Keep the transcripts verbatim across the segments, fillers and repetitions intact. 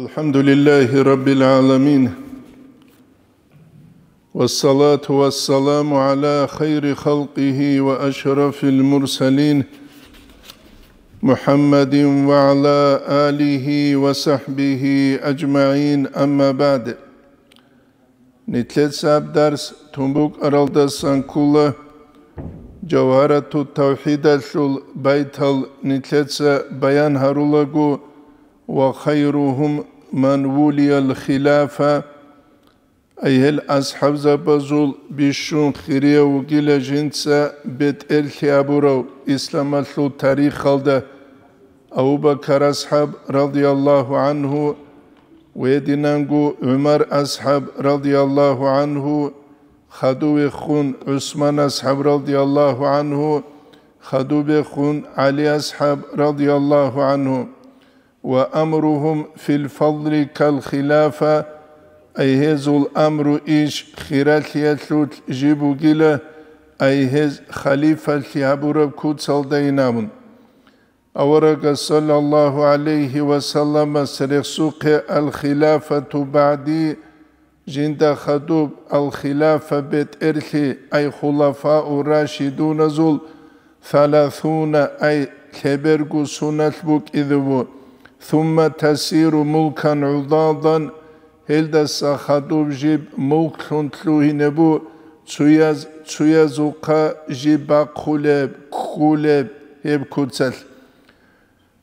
الحمد لله رب العالمين، والصلاة والسلام على خير خلقه وأشرف المرسلين محمد وعلى آله وصحبه أجمعين، أما بعد. Нилъеца гьаб дарс тун букӀаралдасан ккола, Жавгьарату тавхӀидалъул байтал нилъеца баян гьарулаго: «Ва хайрухум ман вулиял хилафа», ай гьел асхӀабзабазул бищун хирияв вугила жинца бетӀерлъи абурав исламалъул тарихалда. Абу Бакар асхӀаб, радияллагьу гӀангьу, гьединанго ГӀумар асхӀаб, радияллагьу гӀангьу, хадувехун ГӀусман асхӀаб, радияллагьу гӀангьу, хадубехун ГӀали асхӀаб, радияллагьу гӀангьу. «Ва амругьум фил фадли кал хилафа», ай гьезул амру иш хиралъиялъулъ жиб бугила, ай гьез халифалъи гьабураб куцалдайин абун. Аварагас, саллаллагьу гӀалайгьи ва салламас, рехсухъе: «Ал-хилафату багӀди», жинда хадуб ал-хилафа бетӀерлъи, ай хулафау рашидуназул, саласуна, ай лъеберго суналъ букӀизе ву, сумма тасиру мулкан гӀудадан, гьелдаса хадуб жиб мулклъун лъугьине бу, цуяз-, цуязухъа жиб бахъулеб, ккулеб гьеб куцалъ.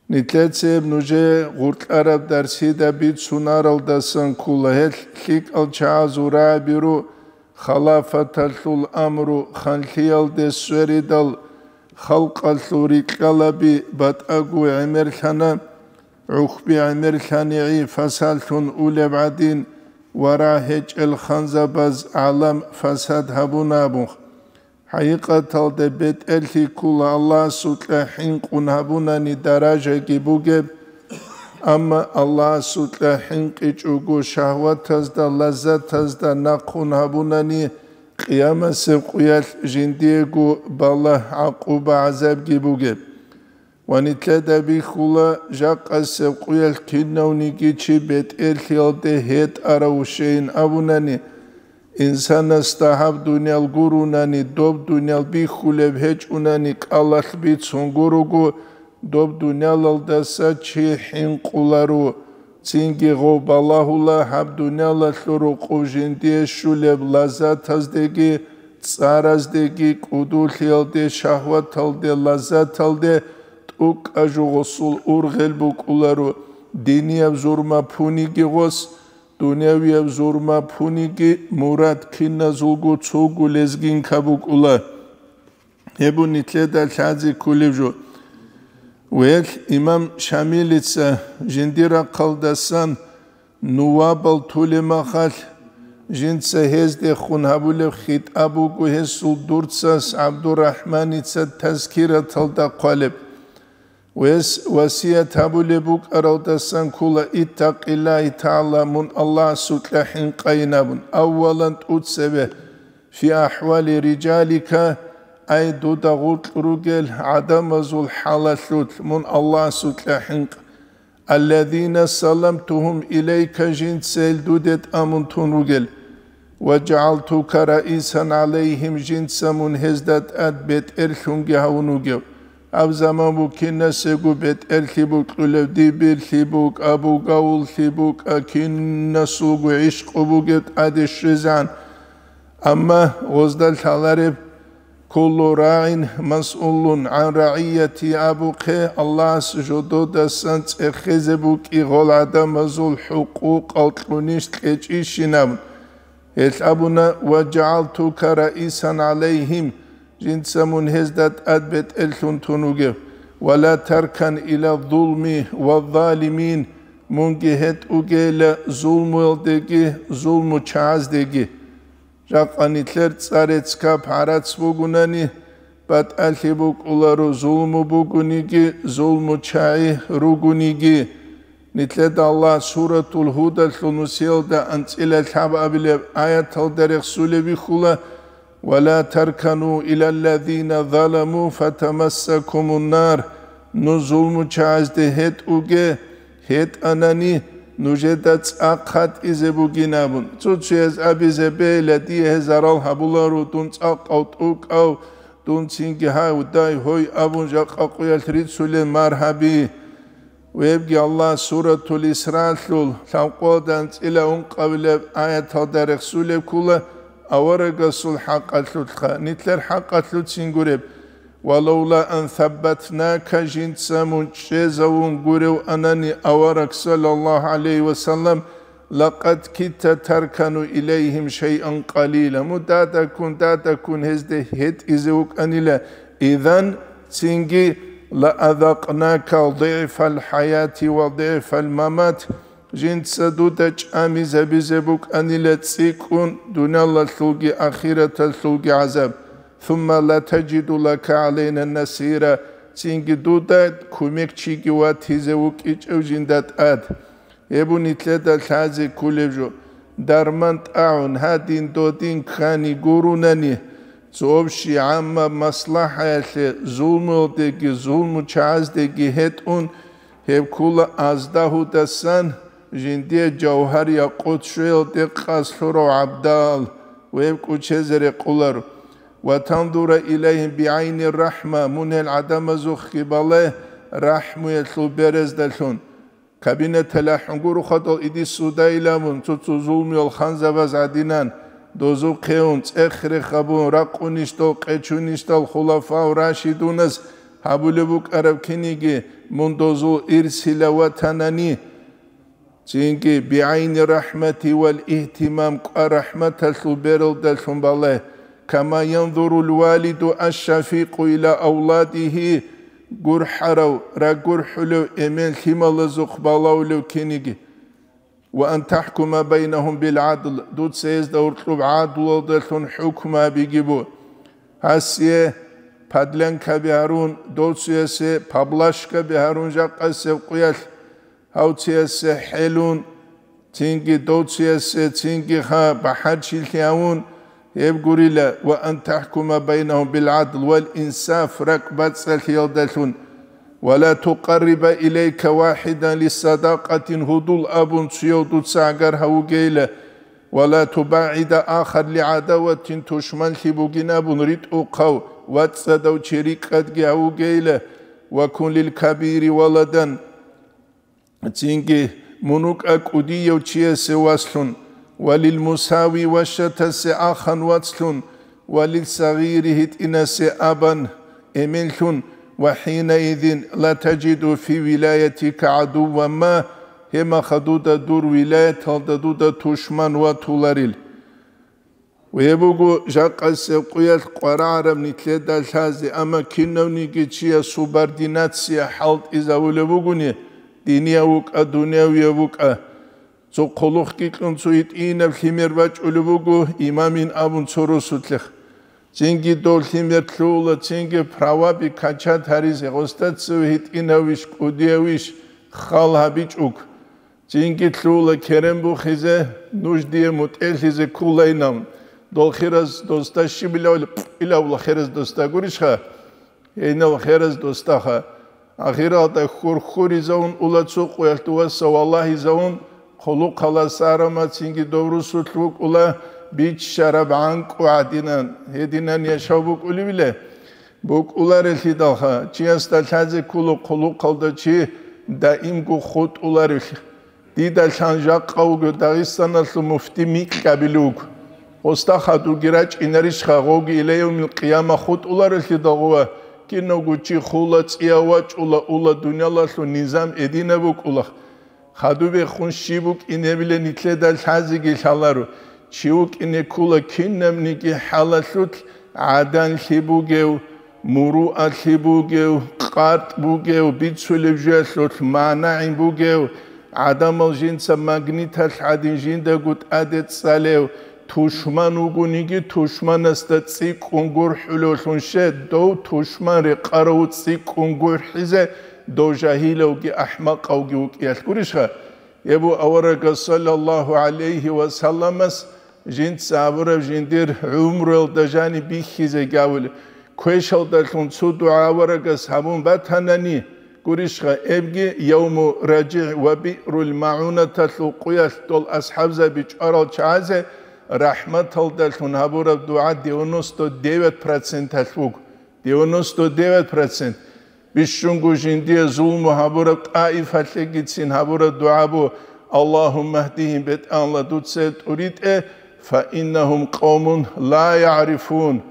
Нилъеца гьеб нужее гъоркьараб дарсида бицунаралдасан ккола, гьелъ лъикӀал чагӀазул рагӀаби ру, халафаталъул амру ханлъиялде сверидал, халкъалъул рикьалаби батӀаго гӀемерлъана, гӀухьби гӀемерлъанигӀи фасаллъун улеб гӀадин, ва рагьечӀел ханзабаз гӀалам фасад гьабуна абун. ХӀакъикъаталда бетӀерлъи ккола Аллагьасукьа хӀинкъун гьабунани даражаги бугеб, амма Аллагьасукьа хӀинкъичӀого шагьватазда, лаззатазда нахъун гьабунани, къиямасеб къуялъ жиндиего балагь, гӀакъуба, гӀазабги бугеб. Ва нилъеда бихьула, жакъасеб къуялъ кинавниги чи бетӀерлъиялде гьетӀарав вущейин абунани, инсанасда гьаб дуниял гурунани, доб дуниял бихьулеб гьечӀунани кӀалалъ бицун гурого, доб дуниялалдаса чи хӀинкъуларо, цинги гъов балагьула гьаб дуниялалъул рукъов жиндие щулеб лаззатаздеги, цӀараздеги, кӀудулъиялде, шагьваталде, лаззаталде, тӀукӀа жугъусул ургъел букӀуларо, динияб зурма пуниги гъос, дунявияб зурма пуниги, мурад киназулго цого лезгинка букӀула. Гьеб нилъеда лъазе кколеб жо. Велъ имам Шамилица жиндир рахъалдасан нувабал тулеб махалъ, жинца гьездехун гьабулеб хитӀаб буго гьесул дурцас ГӀабдурахӀманица Тазкираталда хъвалеб. Гьес васият гьабулеб букӀаралдасан ккола: «Иттакъиллагьи тагӀала», мун Аллагьасукьа хӀинкъайин абун, аввалан тӀуцебе, «фи ахӀвали риджалика», ай дуда гъоркь ругел гӀадамазул хӀалалъулъ мун Аллагьасукьа хӀинкъ, «аллазина салламтугьум илайка», жинца гьел дуде тӀамун тун ругел, «ва жагӀалтука раисан гӀалайгьим», жинца мун гьезда тӀад бетӀерлъунги гьавун вугев. Гьаб заман букинасего бетӀерлъи букьулев, Дибирлъи букӀа, Бугавуллъи букӀа, кинасулго гӀишкъу бугеб тӀаде щвезегӀан. Амма гъозда лъалареб: «Куллу рагӀин масъулун гӀан рагӀияти», абухъе, Аллагьас жододасан цӀехезе букӀи гъол гӀадамазул хӀукъукъал кьунищ кьечӀищинаб. Гьелъ абуна: «Ва жагӀалтука раисан гӀалайгьим», жинца мун гьезда тӀад бетӀерлъун тун вугев, «ва ла таркан ила зулми ва залимин», мунги гьетӀугейила зулмуялдеги зулмучагӀаздеги. Жакъа нилъер цӀа-рецц кап гӀарац бугунани, батӀалъи букӀуларо, зулму бугониги, зулмучагӀи ругониги. Нилъеда Аллагь Суратул Гьудалъул нусиялда анцӀила лъабабилеб аяталда рехсулеб бихьула: «Ва ла таркану илаллазина заламу фатамассакумун нар». Ну зулмучагӀазде гьетӀуге, гьетӀанани, нужеда цӀа хъатӀизе бугин абун. Цо-цояз абизе бегьила, дие гьез зарал гьабуларо, дун цӀакъав, тӀукӀав, дун цинги гьай, дай, гьой абун жакъа къуялъ рицулел маргьаби. Вебги Аллагь Суратул Исраалъул лъабкъоялда анцӀила ункъабилеб аяталда рехсулеб ккола аварагасул хӀакъалъулъха, нилъер хӀакъалъуцин гуреб. «Валавла ан саббатнака», жинца мун чӀезавун гурев анани авараг, саллаллагьу гӀалайгьи ва саллам, «лакъад китта таркану илайгьим шайъан къалила», мун дадаккун, дадаккун гьезде гьетӀизе вукӀанила, изан цинги, «лаазакънака дигӀфал хӀаяти ва дигӀфал мамат», жинца дуда чӀамизабизе букӀанила цӀикӀкӀун дуниялалъулги ахираталъулги гӀазаб. «Сумма ла таджиду лака гӀалайна насира», цинги дуда кумекчиги ватизе вукӀичӀев жинда тӀад. Гьеб нилъеда лъазе кколеб жо, дарман тӀагӀун, гьадин-додин ккани гурунани, цо общий гӀаммаб маслахӀаялъе зулмуялдеги зулмучагӀаздеги гьетӀун, гьеб ккола аздагьудасан жиндие жавгьар-якъут щвеялде къас лъурав гӀабдал ва гьеб кӀучезе рекъоларо. «Ва тандура илайгьим бигӀайни рахӀма», мун гьел гӀадамазухъги бале рахӀмуялъул берездалъун. Кабинаталъ ахӀун гурухъадал иди суда иламун, цо-цо зулмуял ханзабаз гӀадинан, дозухъе ун, цӀех-рех гьабун, ракъунищдал, къечунищдал хулафау рашидунас гьабулеб букӀараб киниги, мун дозул ирсила ватанани, цинги бигӀайни рахӀмати вал игьтимам кӀва рахӀматалъул бералдалъун балай, «кама янзурул валиду аш-шафикъу иля авладигьи», гурхӀарав, рагурхӀулев эмен лъималазухъ балавулев киниги. «Ва ан тахӀкума байнагьум бил гӀадл», дуца гьезда гьоркьоб гӀадлуялдалъун хӀукму гьабиги бу. Гьасие подлянкаби гьарун, доциясе поблажкаби гьарун жакъасеб къуялъ, гьавциясе хӀелун, цинги доциясе, цинги ха бахӀарчилъи гьавун, гьеб гурила, «ва ан тахӀкума байнагьум бил гӀадл вал инсаф», ракӀбацӀцӀалъиялдалъун, «ва ла тукъарриба илайка вахӀидан лиссадакъатин гьудул абун цуяв дуца гӀагар гьавугейила, ва ла тубагӀида ахар лигӀадаватин тушманлъи бугин абун ритӀухъав вацӀцӀадав чи рикӀкӀадги гьавугейила, ва кун лил кабири валадан». Цинги мун вукӀа кӀудияв чиясе васлъун, ва лил мусави ващатасе ахан вацлъун, ва лил сагъири гьитӀинасе абан эменлъун, ва хӀинаизин ла таджиду фи вилаятика гӀадувван ма, гьемаха дуда дур вилаяталда дуда тушман ватуларил. Гьеб буго жакъасеб къуялъ къварагӀараб нилъеда лъазе, амма кинавниги чияс субординация хӀалтӀизавулеб бугони, динияв вукӀа, дунявияв вукӀа. Цо хъулухъги кьун цо гьитӀинаб лъимер бачӀулеб буго имамин абун цо росулъех. Цинги дов лъимер лъугьула, цинги праваби качат гьаризе, гъосда цеве гьитӀинавищ, кӀудиявищ хал гьабичӀого. Цинги лъугьула керен бухизе, нуж дие мутӀелъизе кколайинан. Дол хираз досда щибилавли, илавла хираз досда гурищха? Гьейнав хираз досдаха. Ахиралда хьурхьуризавун ула цо къуялъ дуваса валагьизавун, хъулухъалас арама цинги дов русулъ вукӀула биччараб гӀанкӀу гӀадинан, гьединан яшав букӀулевиле? БукӀуларелъидалха, чиясда лъазе ккола хъулухъалда чи даимго хутӀуларевлъи. Дида лъан жакъа вуго Дагъистаналъул муфти микьабиле вуго. Гъосда хадурги рачӀинарищха, гъовги илайявмил къияма хутӀуларелъидал гъува, кинавго чи хула, цӀияв вачӀула, ула, дуниялалъул низам эдинаб букӀула. Хадубехун щиб букӀинебилан нилъеда лъазеги лъаларо, чи вукӀине ккола кинабниги хӀалалъулъ гӀаданлъи бугев, муруалъи бугев, къартӀ бугев, бицулеб жоялъулъ манагӀин бугев, гӀадамал жинца магниталъ гӀадин жиндаго тӀаде цӀалев, тушман вугониги, тушманасда цӀикӀкӀун гурхӀулевлъун щай, дов тушман рекъарав цӀикӀкӀун гурхӀизе, дов жагьилавги ахӀмакъавги вукӀиялъ гурищха? Гьеб аварагас, саллаллагьу гӀалайгьи ва салламас, жинца абураб жиндир гӀумруялда жаниб бихьизеги абулеб, квешалдалъун цо дугӀа аварагас гьабун батанани, Гурищха, эбги Явму РажигӀ ва Биърул МагӀунаталъул къуялъ дол асхӀабзаби чӀварал чагӀазе рахӀматалдалъун гьабураб дугӀа девяносто девять проценталъ буго. Девяносто девять процент. Бищунго жиндие зулму гьабураб тӀаифалъегицин гьабураб дугӀа бу: «Аллагьумма гьдигьим», бетӀанла дуца гьел тӀуритӀе, «фа иннагьум къавмун ла ягӀрифун».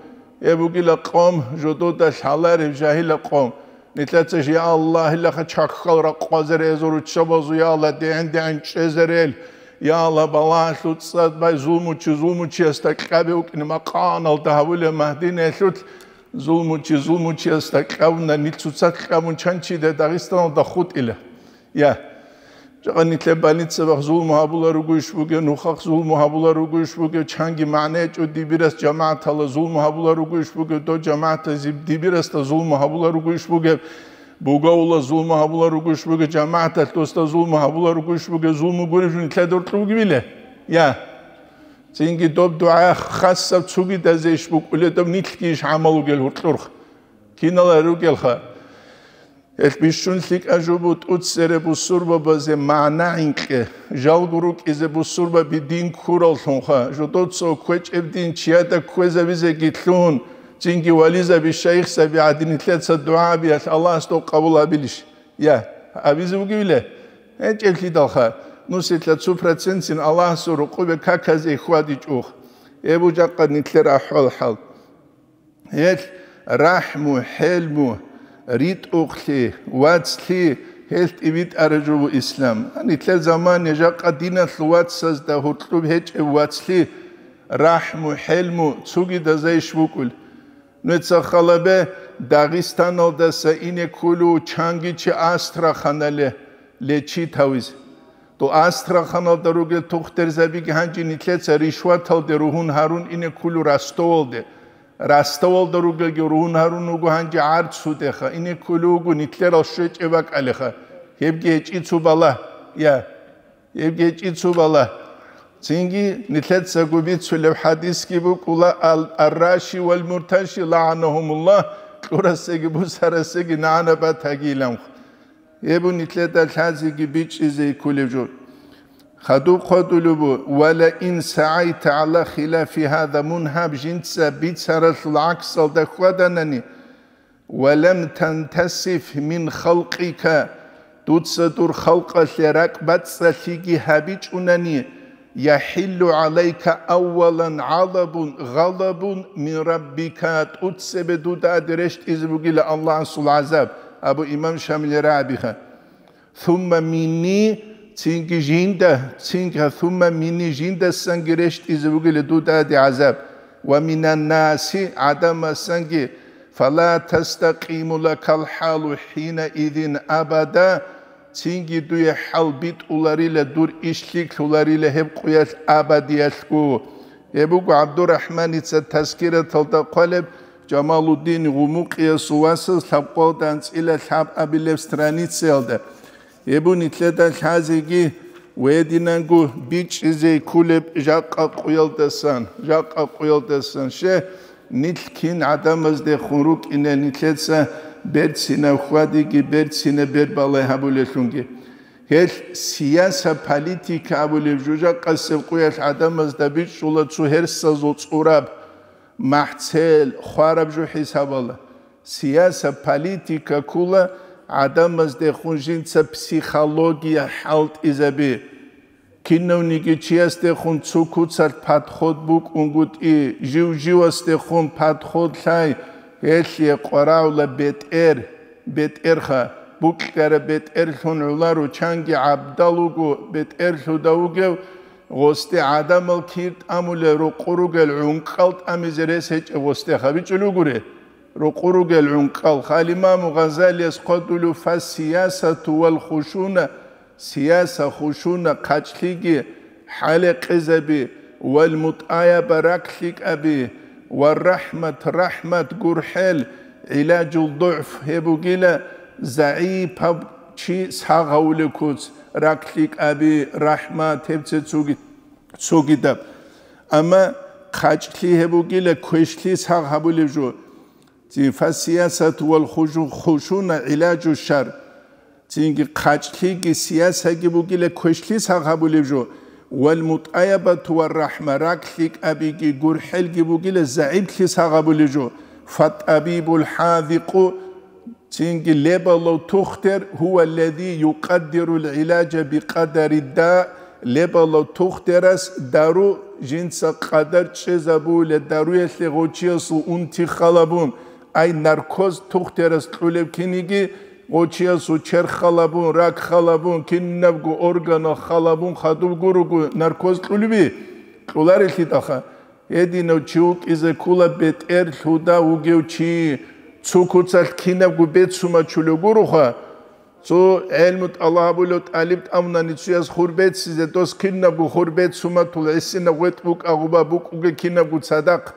Гьеб бугила къавм, жодода лъалареб жагьила къавм. Нилъеца жи, я Аллагь, гьелаха чахьал ракъвазарезул руччабазул, я Аллагь, дегӀен-дегӀен чӀезарел, я Аллагь, балагьалъул цӀад бай зулмучи зулмучиясда кьабе вукӀине макъаналда гьавулев Магьдинаялъулъ, зулмучи зулмучиясда кьабуна, нил цоцазда кьабун чанчида Дагъистаналда хутӀила. Я. Жакъа нилъер больницабахъ зулму гьабулар ругойищ бугеб, нухахъ зулму гьабулар ругойищ бугеб, чанги магӀна гьечӀо дибирас жамагӀатала зулму гьабулар ругойищ бугеб, дов жамагӀатазе дибирасда зулму гьабулар ругойищ бугеб, бугавула зулму гьабулар ругойищ бугеб, жамагӀаталъ досда зулму гьабулар ругойищ бугеб, зулму гуреб жо нилъеда гьоркьоб бугебила? Я. Цинги доб дугӀа хасаб цугидазейищ букӀулеб, доб нилъгийищ гӀамал ругел гьоркьорха? Кинала ругелха? Гьелъ бищун лъикӀа жо бу тӀуцере бусурбабазе магӀна гӀинкъе, жалго рукӀизе бусурбаби дин ккураллъунха, жодоца кквечӀеб дин чияда кквезабизеги лъун, цинги вализаби, шайихзаби гӀадин нилъеца дугӀа абиялъ Аллагьас доб къабул абилищ? Я, абизе бугевила? ГьечӀеблъидалха, нусилъа цо процентцин Аллагьасул рукъубе каказе хьвадичӀухъ. Гьеб жакъа нилъер ахӀвал-хӀал. Гьелъ рахӀму, хӀелму, ритӀухълъи, вацлъи, гьелъ тӀибитӀараб жо бу ислам. Нилъер замане жакъа диналъул вацазда гьоркьоб гьечӀеб вацлъи, рахӀму, хӀелму цугидазайищ букӀул? Нуца халабе, Дагъистаналдаса ине кколев чанги чи Астраханале лечить гьавизе. Дов Астраханалда ругел тухтурзабиги гьанже нилъеца ришваталде ругьун гьарун ине кколев Ростовалде. Ростовалда ругелги ругьун гьарун вуго гьанже гӀарцудеха, ине кколев вуго нилъерал щвечӀеб бакӀалеха. Гьебги гьечӀи цо балагь, я, гьебги гьечӀи цо балагь. Цинги нилъецаго бицулеб хӀадисги букӀула: «Ал-, ар-раши вал-мурташи лагӀанагьумуллагь», кьурасеги бусарасеги нагӀана батагиилан. Гьеб нилъеда лъазеги бичӀчӀизе кколеб жо. Хадуб хъвадулеб бу: «Ва ла ин сагӀайта гӀала хилафи гьаза», мун гьаб жинца бицаралъул гӀаксалда хьваданани, «ва лам тантасиф мин халкъика», дуца дур халкъалъе ракӀбацӀцӀалъиги гьабичӀунани, «яхӀиллу гӀалайка аввалан гӀалабун, гъалабун мин раббика», тӀуцебе дуда аде рещтӀизе бугила Аллагьасул гӀазаб, абу имам Шамиле рагӀабиха. «Сумма минни», цинги жинда, цинги, «сумма минни», жиндасанги рещтӀизе бугила дуда аде гӀазаб, «ва минаннаси», гӀадамасанги, «фала тастакъиму лакал хӀалу хӀинаизин абада», цинги дуе хӀал битӀуларила, дур иш лъикӀлъуларила гьеб къуялъ абадиялъго. Гьеб буго ГӀабдурахӀманица Тазкираталда хъвалеб, Жамалуддин Гъумукъиясул васас лъабкъоялда анцӀила лъаб абилеб страницаялда. Гьеб нилъеда лъазеги гьединанго бичӀчӀизе кколеб жакъа къуялдасан, жакъа къуялдасан. Ще, нилъ кин гӀадамаздехун рукӀине нилъеца берцинаб хьвадиги берцинаб бер балай гьабулелъунги. Гьелъ сияса, политика абулеб жо жакъасеб къуялъ гӀадамазда бичӀчӀула цо гьерсазул цӀураб, махӀцел, хвараб жо хӀисабала. Сияса, политика ккола гӀадамаздехун жинца психология хӀалтӀизаби. Кинавниги чиясдехун цо куцалъ подход букӀунгутӀи, жив-живасдехун подход лъай, гьелъие къварагӀула бетӀер, бетӀерха, букьараб бетӀерлъун гӀоларо, чанги гӀабдал вуго бетӀерлъуда вугев, гъосде гӀадамал кир тӀамулел рокъор ругел гӀункъал тӀамизе рес гьечӀеб гъосдеха бичӀчӀулев вугури. Рокъор ругел гӀункъал. Гьал имаму Гъазалияс хъвадулев: «Фас-сиясату вал хушуна», сияса, хушуна, хъачӀлъиги, хӀалекъезаби, вал мутӀаяба, раклъикӀаби, ва рахӀмат, рахӀмат, гурхӀел, гӀилажул дугӀф, гьеб бугила загӀипаб чи сагъ гьавулеб куц, раклъикӀаби, рахӀмат, гьеб цецуги-, цогидаб. Амма хъачӀлъи гьеб бугила квешлъи сагъ гьабулеб жо. Цин фасиясат вал хужу-, хушуна гӀилажу шар. Цинги хъачӀлъиги сиясаги бугила квешлъи сагъабулеб жо, вал мутӀаябату ва рахӀма, ракълъикӀабиги гурхӀелги бугила загӀиплъи сагъабулеб жо. Фаттабибул хӀазикъу, цинги лебалав тухтер, гьува лази юкъаддирул гӀилажа бикъадари да, лебалав тухтерас дару жинца къадар чӀезабула, даруялъе гъочиясул унти халабун, ай наркоз тухтерас кьулеб киниги, гъочиясул черх халабун, рак халабун, кинабго органал халабун хадуб гуруго наркоз кьулеби? Кьуларелъидалха. Гьединав чи вукӀизе ккола бетӀер лъуда вугев чи, цо куцалъ кинабго бецумачулев гуроха. Цо гӀелму тӀалабулев тӀалиб тӀамунани цояс хур беццизе, дос кинабго хур бецуматул гӀисинаб гъветӀ букӀа гъуба букӀуге кинабго цадахъ.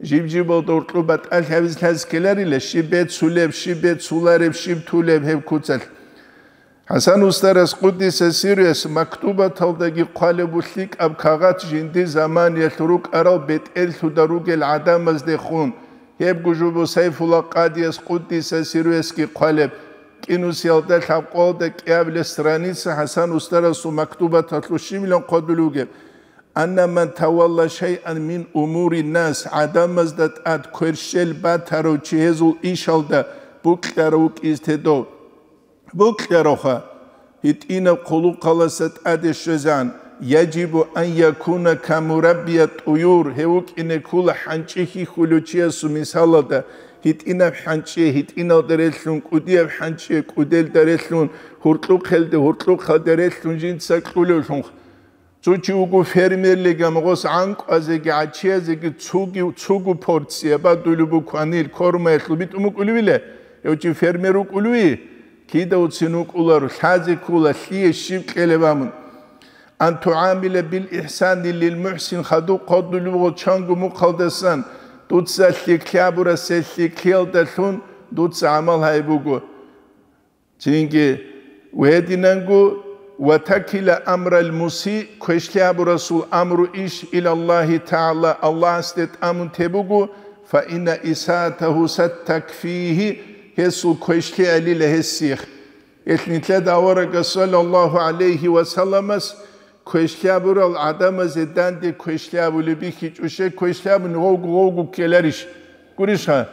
Жиб-жибалда гьоркьоб батӀалъи гьабизе лъазе ккеларила, щиб бецулеб, щиб бецулареб, щиб тулеб гьеб куцалъ. ХӀасан устарас, къуддиса сирругьу, мактубаталдаги хъвалеб буго лъикӀаб кагъат жиндир заманиялъ рукӀарал бетӀерлъуда ругел гӀадамаздехун, гьебго жо буго Сайфулла къадияс, къуддиса сирругьуясги хъвалеб, кӀинусиялда лъабкъоялда кӀиабилеб страница ХӀасан устарасул мактубаталъул щибилан хъвадулев вугеб. Анна ман тавалла шайъан мин умурин нас, гӀадамазда тӀад кверщел батарав чи гьезул ишалда бокьарав вукӀизе тедав. Бокьаравха, гьитӀинаб хъулухъаласа тӀаде щвезан, яжибу ан якуна ка мураббия тӀуюр, гьев вукӀине ккола хӀанчӀи хьихьулев чиясул мисалалда, гьитӀинаб хӀанчӀи гьитӀиналда релълъун, кӀудияб хӀанчӀи кӀуделда релълъун, гьуркьухъелде гьуркьухъалде релълъун жинца кьулевлъун. Цо чи вуго фермерлигам, гъос гӀанкӀуазеги гӀачиязеги цуги-, цуго порция бадулеб буго кванил кормаялъул битӀун букӀулевила, гьев чи фермер вукӀулеви? Кидавцин вукӀуларо, лъазе ккола, лъие щиб кьелеб абун. Ан тугӀамила бил ихсани лил мухӀсин, хадуб хъодулев вуго чанго мухъалдасан, дуца лъикӀлъи абурасе лъикӀлъиялдалъун дуца гӀамал гьайиб буго. Цинги, гьединанго, ва такила амрал муси, квешлъи абурасул амру иш, илаллагьи тагӀала, Аллагьасде тӀамун теб буго, фа инна исаатагьу саттакфигьи, гьесул квешлъи гӀелила гьесихъ. Гьелъ нилъеда аварагас, саллаллагьу гӀалайгьи ва салламас, квешлъи абурал гӀадамазе данде квешлъи абулеб бихьичӀоше, квешлъи абуни гъовго-гъовго ккеларищ? Гурищха?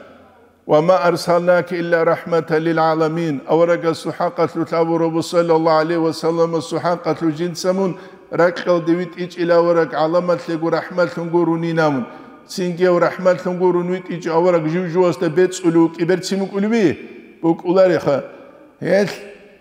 Ва ма арсалнака илла рахӀматан лил гӀаламин, аварагасул хӀакъалъулъ абураб, саллаллагьу гӀалайгьи ва салламасул хӀакъалъулъ жинца мун ракьалде витӀичӀила авараг гӀаламалъего рахӀматлъун гурунин абун. Цинги гьев рахӀматлъун гурун витӀичӀо авараг жив-живасда бецӀулев вукӀи берцин букӀулеби? БукӀулареха. Гьелъ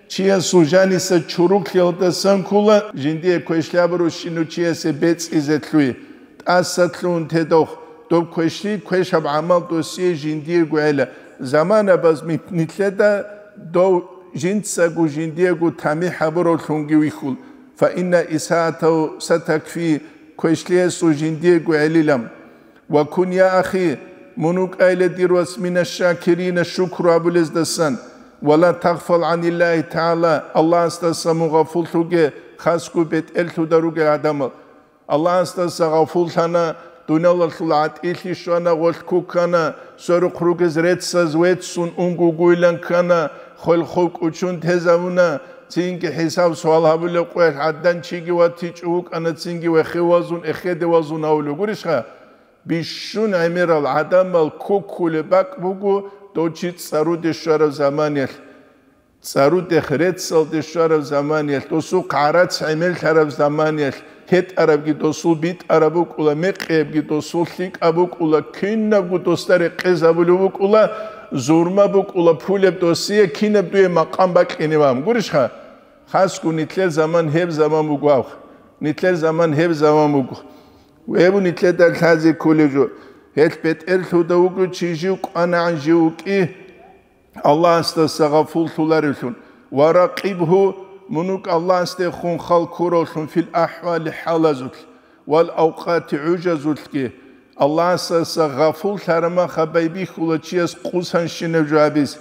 чиясул жаниса чуруклъиялдасан ккола, жиндие квешлъи абурав щинав чиясе бецӀизе лъугьи, тӀаса лъугьун тедохъ, доб квешлъи квешаб гӀамал досие жиндиего гӀела, заманабаз ми-, нилъеда дов жинцаго жиндиего тамихӀ гьабуравлъунги вихьул, фа инна исаатав сатакфи, квешлъиялъул жиндиего гӀелилан. Ва кун, я ахи, мун вукӀайла, дир вас, мина шакирина, шукру абулездасан, ва ла тагъфал гӀаниллагьи тагӀала, Аллагьасдаса мун гъафуллъуге, хасго бетӀерлъуда ругел гӀадамал. Аллагьасдаса гъафуллъана, дуниялалъул гӀатӀилъи щвана, гъолъ кукана, сверухъ ругез реццаз веццун унгугуйлан ккана, хвел-хов кӀучун тезавуна, цинги хӀисаб-суал гьабулеб къоялъ гӀадан чиги ватичӀо вукӀана, цинги вехевазун, эхедевазун гьавулев гурищха? Бищун гӀемерал гӀадамал ккуккулеб бакӀ буго дов чи цӀаруде щвараб заманиялъ. ЦӀарудехъ реццалде щвараб заманиялъ, досухъ гӀарац гӀемерлъараб заманиялъ, гьетӀарабги досул битӀараб букӀула, мекъиябги досул лъикӀаб букӀула, кинабго досда рекъезабулев букӀула, зурма букӀула, пулеб досие кинаб дуе макъам бакьинеб абун. Гурищха? Хасго нилъер заман гьеб заман буго аб. Нилъер заман гьеб заман буго. Гьеб нилъеда лъазе кколев жо. Гьелъ бетӀерлъуда вуго чи жив кӀванагӀан жив вукӀи, Аллагьасдаса гъафуллъуларевлъун. Ва ракъибгьу, мун вукӀ Аллагьасдехун хал ккуравлъун, фил ахӀвали, хӀалазулъ, вал авкъати, гӀужазулъги. Аллагьасдаса гъафуллъараб махаб байбихьула чияс къусанщинаб жо гьабизе,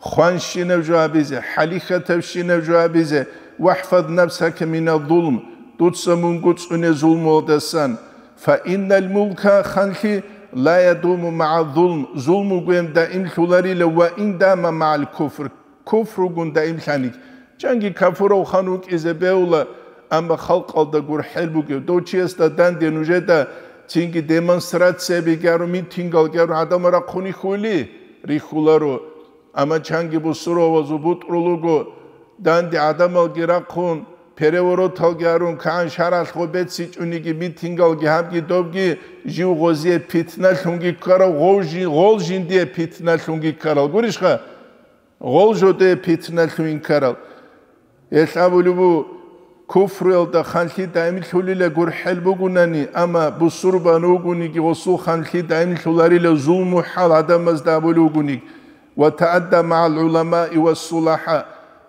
хванщинаб жо гьабизе, хӀалихьатабщинаб жо гьабизе, вахӀфаз нафсака мина зулм, дуца мунго цӀуне зулмуялдасан, фа иннал мулка, ханлъи, ла ядуму магӀа зулм, зулму гвен даимлъуларила ва ин дама магӀал куфр, Куфругун даимлъаник. Чанги кафурав хан вукӀизе бегьула, амма халкъалда гурхӀел бугев. Дов чиясда данде нужеда цинги демонстрация бигяру, митингал гяру гӀадамал рахъуни хьули? Рихьуларо. Амма чанги бусурвавазул бутӀрул руго, данде гӀадамалги рахъун, перевороталги гьарун, кагӀан шаргӀалъ гъо бецичӀониги, митингалги гьабги добги, жив гъозие питналъунги ккарал, гъов жи-, гъол жиндие питналъунги ккарал. Гурищха? Гъол жодее питналъуин ккарал. Гьелъ абулеб бу, куфруялда ханлъи даимлъулила гурхӀел бугунани, амма бусурбан вугониги гъосул ханлъи даимлъуларила зулму хӀал гӀадамазда абулев вугониги. Ва таадда магӀал гӀуламаи ва сулахӀа,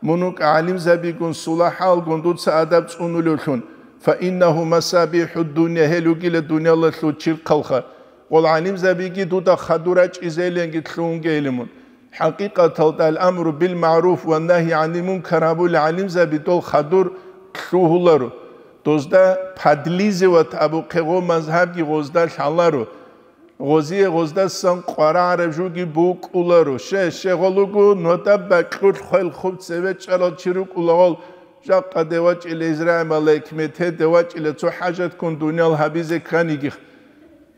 мун вукӀа гӀалимзабигун сулахӀалгун дуца адаб цӀунулевлъун, фа иннагьу масабихӀу дунья, гьел ругила дунялалъул чирхъалха. Гъол гӀалимзабиги дуда хадур рачӀизейиланги лъугьунгейилимун. ХӀакъикъаталда ал-амру бил-магӀруф ва нагьи гӀанил мункар гьабулел гӀалимзаби дол хадур лъугьуларо. Дозда подлизывать абухъе гъо мазгьабги гъозда лъаларо. Гъозие гъоздасан къварагӀараб жуги букӀуларо. Ще, ще гъолуго, нодаб бакьулъ хвел хуб цеве чӀарал чи рукӀула гъол, жакъа девачӀила Израил малаик мете девачӀила цо хӀажатккун дуниял гьабизе кканигих.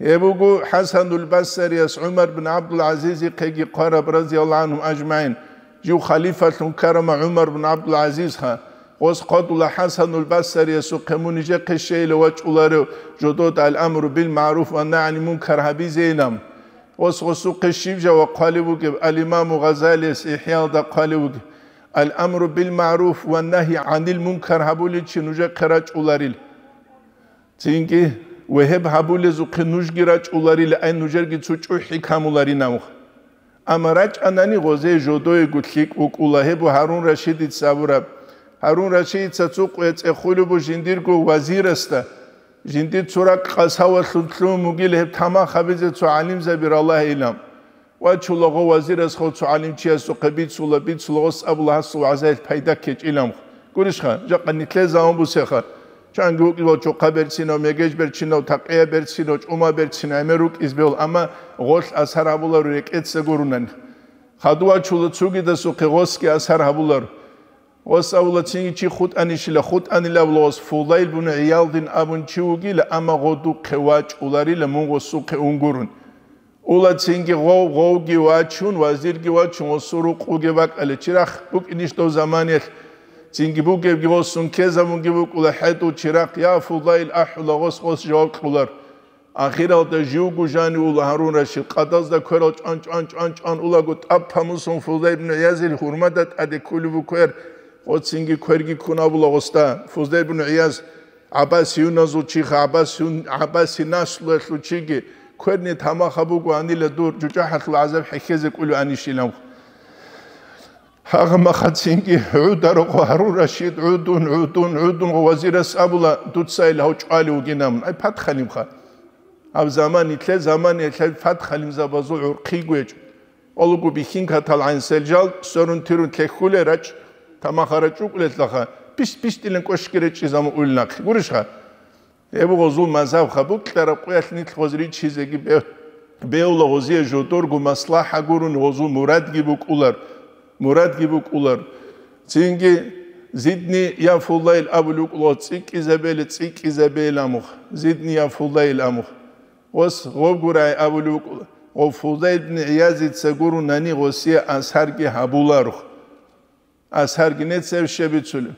Гьеб буго ХӀасанул Басарияс ГӀумар бин ГӀабдул-ГӀазизихъеги хъвараб, разияллагьу гӀанхум ажмагӀин, жив халифалъун ккарама ГӀумар бин ГӀабдул-ГӀазизха. Гъос хъвадула ХӀасанул Басариясухъе, мун нижехъе щейила вачӀуларев жодода ал-амру бил-магӀруф ва нагьи гӀанил мункар гьабизейилан. Гъос гъосухъе щиб жаваб хъвалев вугеб? Ал-Имаму Гъазалияс ИхӀяалда хъвалев вугеб: «Ал-амру бил-магӀруф ва нагьи гӀанил мункар гьабулев чи нужехъе рачӀуларил». Цинги, ва гьеб гьабулезухъе нужги рачӀуларила, ай нужерги цо чӀухӀи камуларинавха. Амма рачӀанани гъозей жодоего лъикӀ вукӀула, гьеб Гьарун Рашидица абураб. Гьарун Рашидица цо къвецӀехулеб бу жиндирго вазирасда, жиндир цо ракӀ къасавалъун лъугьун бугила гьеб тамах гьабизе цо гӀалимзаби ралагьилан. Вачула гъо вазирасхо цо гӀалимчиясухъе бицула, бицула гъос абула гьасул вагӀзаялъ пайда ккечӀилан. Гурищха, жакъа нилъер заман бусеха. Чанги вукӀила чохъа берцинав, мегеж берцинав, такъия берцинав, чӀума берцинав гӀемер рукӀиз бегьул, амма гъолъ асар гьабуларо рекӀеца гурунани. Хадув вачула цугидасухъе гъосги асар гьабуларо. Гъос абула цинги чи хутӀанищила, хутӀанила абула гъос Фудайл бун ГӀиялдин абун чи вугила, амма гъодухъе вачӀуларила мун гъосухъе унгурун. Ула цинги гъов, гъовги вачун, вазирги вачун, гъосул рукъуге бакӀале. Чирахъ букӀинищ дов заманиялъ? Цинги бугебги гъосун ккезабунги букӀула хӀетӀул чирахъ, я Фудайл ахӀула гъос, гъос жаваб кьулар. Ахиралда живго жанив ула Гьарун Рашид, къадазда кверал чӀван-чӀван-чӀван-чӀван улаго, тӀад тамусун Фудайл ибн ГӀиязил гьурмада тӀаде кколев ву квер, гъоцинги кверги ккун абула гъосда. Фудайл ибн ГӀияз гӀаббасиюназул чиха, гӀаббасиюн, гӀаббаси наслуялъул чиги, кверни тамаха буго анила дур, жужахӀалъул гӀазаб хӀехьезе кӀулев анищилан. Гьагъа махацинги гӀударухъ Гьарун Рашид гӀудун, гӀудун, гӀудун вазирас абула, дуца ил гьав чӀвалев вугинамун. Ай, патхалимха. Гьаб заман итлъе заман итлъе патхалимзабазул гӀурхъи гвечӀо. Олугу бихьинкатал гӀансел жал сверун тирун лъехьуле рачӀ, тамаха рачӀукӀулелъаха, пис-пистилан кӀошги речӀчӀизамун улинахъе. Гурищха? Гьеб гъозул мазгьабха букьараб къуялъ нилъ гъоз риччизеги бе-, беула гъозие жодорго маслахӀа гурони гъозул мурадги букӀулар, мурадги букӀулар. Цинги зидни я фуллайил абулев вукӀула гъоз цӀикӀкӀизабейли, цӀикӀкӀизабейил амухъ, зидни я фуллайил амухъ. Гъос гъоб гурай абулев вукӀула, гъов Фудайл ибн ГӀиязица гурунани гъосие асарги гьабуларухъ. Асарги нецев щебицулев.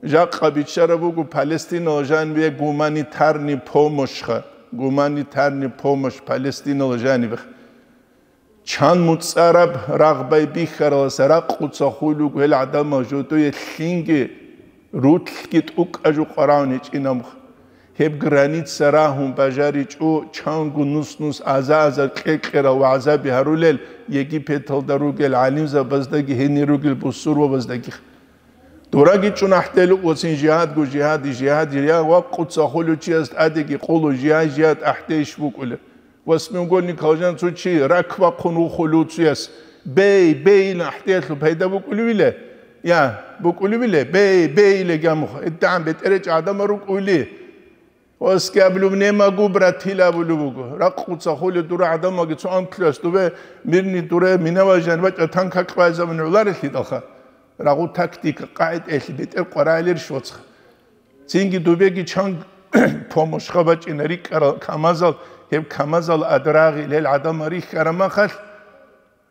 Жакъа биччараб буго Палестинала жаниве гуманитарный помощьха, гуманитарный помощь Палестинала жанивех. Чан муцӀараб рагъбай бихьараласа ракъуца хулуг гьел гӀадамал жодое лъинги, рулъги тӀукӀа жо къваравун гьечӀинамха. Гьеб граница рагьун бажаричӀо, чанго нус-нус аза-азар кьекьерал вагӀзаби гьарулел, Египеталда ругел гӀалимзабаздаги гьенир ругел бусурбабаздаги. Дораги чӀун ахӀдел вуцин жигьадго жигьади, жигьади, я вакъуца хулучияс тӀадеги къулу жигьад, жигьад ахӀдейищ букӀулеб? Восьмиугольникал жан цо чи рак бахъун вухулев цуяс, бей, бейилан ахӀдеялъул пайда букӀулевиле? Я, букӀулевиле? Бей, бейиле гамухъ. ИтдагӀан бетӀеречӀ гӀадамал рукӀули. Оскаблу немагу братила абулеб буго. Ракъуца хули дура гӀадамаги цо анкулас дубе мирни дуре минаважан бачӀа танка кьвай заман гӀоларелъидалха. Рагъу тактика, къагӀидаялъе бетӀер къварагӀилерищ вацха. Цинги дубеги чан помощха бачӀина рикӀкӀарал камазал, гьеб камазал адрагъи лел гӀадамал рихьараб махалъ,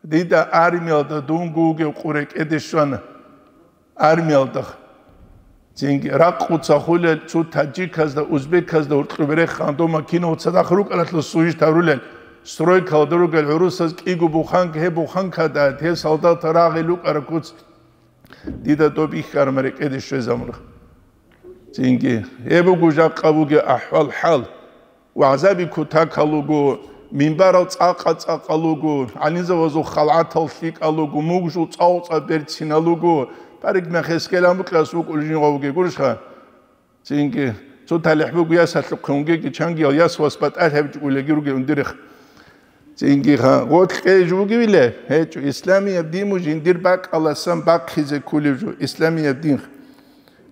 дида армиялда дунго вугев къу рекӀеде щвана. Армиялда. Цинги ракъуца хулел цо таджиказда, узбеказда гьуркьуб реххана, дома кинав цадахъ рукӀаралъул сужит гьарулел, стройкалда ругел гӀурусаз кӀиго буханка, гьеб буханкада гьел солдатал рагъи лукӀараб куц. Дида доб ихьарма рекӀеде щвезабуна. Цинги, гьеб буго жакъа бугеб ахӀвал-хӀал. ВагӀзаби кутакал руго, минбарал цӀакъа-цӀакъал руго, гӀалимзабазул халгӀатал лъикӀал руго, мугжул цӀакъ-цӀакъ берцинал руго, парикмахьес гьелан букьас вукӀулев жиндир вугев гурищха? Цинги, цо талихӀ буго ясалъухъе унгеги чангиял яс вас батӀалъи гьабичӀого угеги ругел ундерехъ. Цинги ха, гъоркье жо бугевиле? ГьечӀо, исламияб дин жиндир бакӀаласан бахъизе кколев жо, исламияб дин.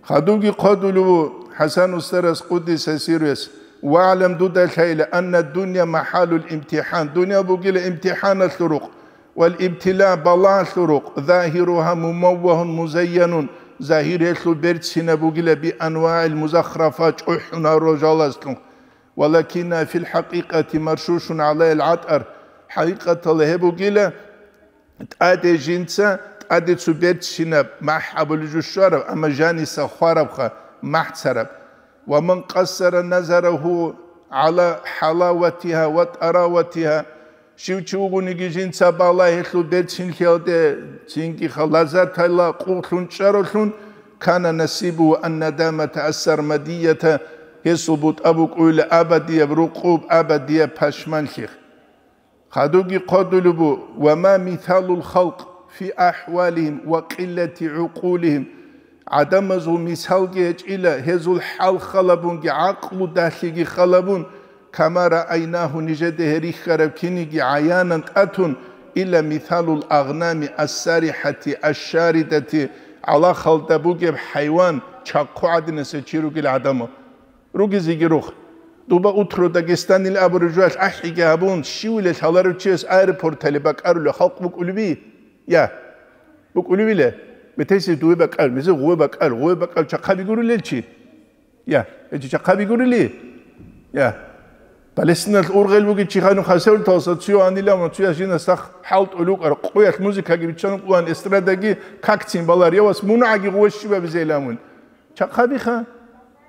Хадубги хъодулев ву ХӀасан устарас, къуддиса сирругьу, вагӀлам, дуда лъайила, анна дунья махӀаллул имтихӀан, дуниял бугила имтихӀаналъул рукъ, вал ибтила, балагьалъул рукъ, загьиругьа мумаввагьун музайянун, загьир гьелъул берцинаб бугила би анвагӀил музахрафа, чӀухӀун гьарурал жалазлъун. Валакинна фил хӀакъикъати маршушун гӀалайил гӀатӀар, хӀакъикъаталда гьеб бугила тӀаде жинца, тӀаде цо берцинаб махӀ абулеб жо щвараб, амма жаниса хварабха, махӀ цараб. Ва ман къассара назарагьу гӀала хӀалаватигьа ва тӀараватигьа, щив чи вугониги жинца балагьелъул берцинлъиялде, цинги ха лаззаталда къулъун чӀаралъун, кана насибугьу ан-надамата ас-сармадията, гьесул бутӀа букӀуйла абадияб рукъуб, абадияб пашманлъи. Хадубги хъодулеб бу, ва ма мисалул халкъ фи ахӀвалихим ва къиллати гӀукъулихим, гӀадамазул мисалги гьечӀила, гьезул хӀал халабунги, гӀакълу далъиги халабун, кама раайнагьу, нижеда гьеб рихьараб киниги гӀаянан тӀатун, илла мисалул агънами ас-сарихӀати аш-шаридати, гӀалахалда бугеб хӀайван, чахъу гӀадинаса чи ругел гӀадамал. Ругезеги рухъ. Дуба «Утро Дагестанил» абураб жоялъ ахӀиги гьабун, щивилел гьаларав чияс аэропорталде бакӀарулев халкъ букӀулеби? Я. БукӀулевила? Метайси дуе бакӀар, мезе гъуве бакӀар, гъуве бакӀар чахъаби гурулел чи? Я. Эчи чахъаби гурили? Я. Палестиналъ ургъел бугев чи ханун хасевлталса цуя анила ва цуя жинас сах хӀалтӀулукъар, къуялъ музыкаги биччан къуан, эстрадаги какцин балар, явас мунагӀаги гъуве щибабизе иламун. Чахъабиха.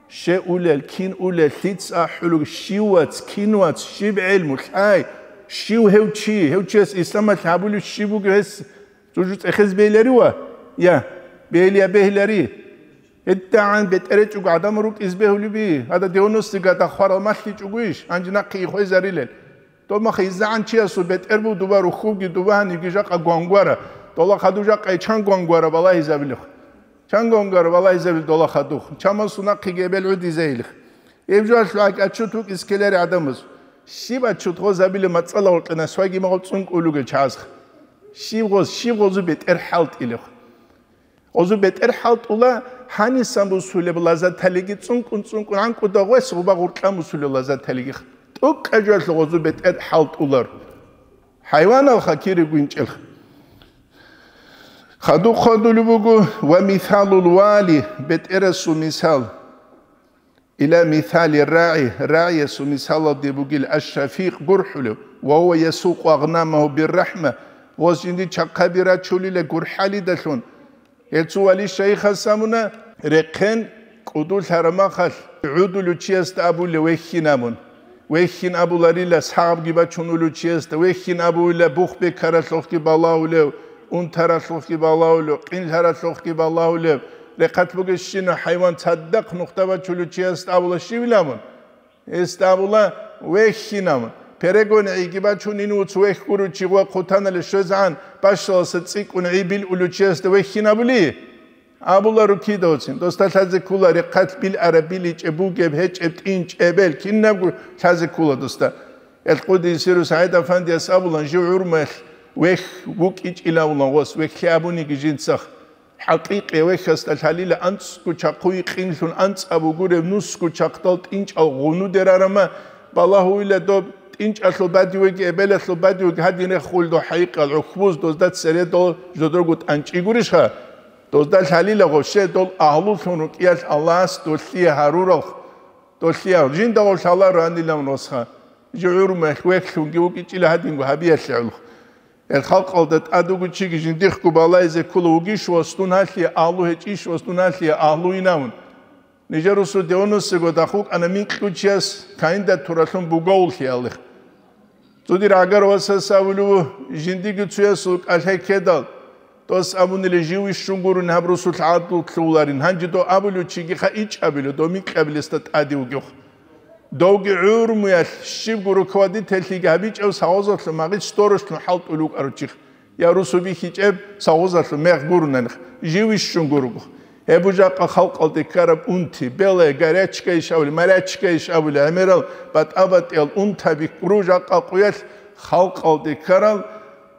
Ще улел, кин улел, лъица ахӀулел, щив вац, кин вац, щиб гӀелму лъай, щив гьев чи, гьев чияс исламалъ гьабулев щиб бугев гьес, жужу цӀехез бейиларива? Я, бейилия бегьилари. ГьедигӀан бетӀеречӀого гӀадамал рукӀиз бегьулеби, гьада девяностый года хварал малъичӀогойищ, гьанже нахъе ихвезарилел. Домаха иззагӀан чиясул бетӀер буго дуба рухьубги дуба гьанибги жакъа гвангвара, дола хадув жакъа чан гвангвара балагьизабилихъ. Чан гвангвара балагьизабил дола хадув. Чамасул нахъеги эбел гӀудизайилихъ. Гьеб жоялъ гьакӀ отчет вукӀиз ккелари гӀадамаз. Щиб отчет гъозабилеб мацӀала гъоркье насвайги магъаб цӀункӀулугел чагӀазха. Щиб гъоз, щиб гъозу бетӀер хӀалтӀилехъ. Гъозу бетӀер хӀалтӀула гьанисан бусулеб лаззаталиги цӀункӀун-цӀункӀун гӀанкӀуда гъвес гъуба гъуркьан бусулеб лаззаталиги. ТӀукӀа жоялъ гъозу бетӀер хӀалтӀулар. ХӀайваналха кири гвинчӀелха. Хадуб хадулеб буго ва мисалул вали, бетӀерасул мисал. Ила мисали рагӀи, рагӀиясул мисалалде бугила аш-шафикъ гурхӀулев, ва гьува ясукъу агънамагьу биррахӀма, гъоз жинди чахъаби рачулила гурхӀалидалъун. Гьел цо вали шайхас абуна, рехъен кӀудулъараб махалъ гӀудулев чиясда абула вехьин абун. Вехьин абуларила сагъабги бачун улев чиясда, вехьин абуила бух бекаралъухъги балагьулев, унтаралъухъги балагьулев, къинлъаралъухъги балагьулев, рехъалъ бугебщинав хӀайван цадахъ нухда бачулев чиясда абула щивилан абун? Гьесда абула вехьин абун. Перегон гӀиги бачун, ин уц вехь гурев чи гъов хъутаналде щвезегӀан, бащаласа цӀикӀкӀун гӀи билъулев чиясда вехьин абули? Абуларо кидавцин, досда лъазе ккола рехъалъ билараб, биличӀеб, бугеб, гьечӀеб, тӀинчӀеб, бел кинабго лъазе ккола досда. Элкъуди Сирус ГӀайд-Афандияс абулан, жив гӀурмалъ вехь вукӀичӀилавулан гъос, вехьлъи абуниги жинцах. ХӀакъикъи вехьасда лъалила анцӀго чахъуй къинлъун анцӀаб бугуреб нусго чахъдал тӀинчӀал гъунудерарама, балагьуйла доб тӀинчӀалъул бадивеги эбелалъул бадивеги гьадин рехулдо хӀайикъал гӀухбуз дозда цередал жодорго тӀанчӀи гурищха? Дозда лъалила гъоще дол агьлулъун рукӀиялъ Аллагьас долъие гьаруралх, долъие гьару. Жинда гъов лъаларо гьанилан росха. Жи гӀурмуялъ вехьлъунги вукӀичӀила гьадинго гьабиялъе гӀолохъ. Гьел халкъалда тӀад вуго чиги жиндихъго балайзе ккола вугищ ва стун гьалъие агьлу гьечӀищ ва стун гьалъие агьлуйин абун. Нижер русу девяностого дахъ вукӀана микьучияс кандидатуралъун бугоуллъиялих. Цо дир гӀагар васас абулев жиндиги цуясул кӀалъай ккедал, дос абунили жив ищун гурун гьаб русулъ гӀадлу лъуларин. Гьанже дов абулев чигиха ичӀабилев, дов микьабилесда тӀаде вугев. Довги гӀурмуялъ щибго руководительлъиги гьабичӀев сагъозалъун магъит сторожлъун хӀалтӀулев вукӀарав чихъ. Я русу бихьичӀеб сагъозалъун мегъ гурунаних, жив ищун гуруго. Гьеб жакъа халкъалде ккараб унти, белая горячка иш абули, морячка иш абули, гӀемерал батӀа-батӀиял унтаби ккуру жакъа къуялъ халкъалде ккарал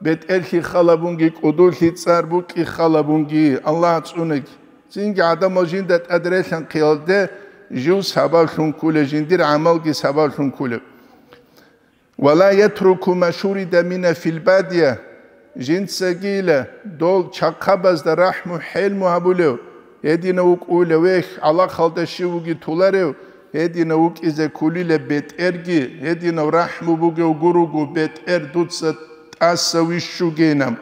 бетӀерлъи халабунги, кӀудулъи цӀар букӀи халабунги, Аллагь цӀунеги. Цинги гӀадамал жинда тӀадрелъанхъиялде жив сабаблъун ккулеб, жиндир гӀамалги сабаблъун ккулеб. «Ва ла ятруку ма шурида мина фил бадия», жинцагила дол чахъабазда рахӀму-хӀелму гьабулев, гьединав вукӀула вехь, гӀалахалда щив вуги туларев, гьединав вукӀизе ккулила бетӀерги, гьединав рахӀму бугев гуруго бетӀер дуца тӀаса вищугейна.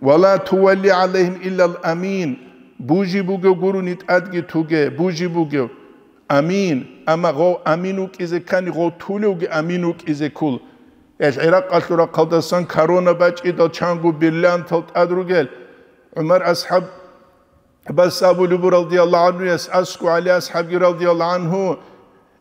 «Ва ла тувалли гӀалайгьим иллал амин», бужи бугев гуруни тӀадги туге, бужи бугев. Амин. Амма гъов амин вукӀизе ккани, гъов тулевги амин вукӀизе ккол. Гьел ГӀиракъалъул рахъалдасан корона бачӀидал чанго бриллиантал тӀад ругел. ГӀумар асхӀаб Аббас абулеб буго радияллагьу гӀанхуяс, асгу ГӀали асхӀабги радияллагьу гӀанху: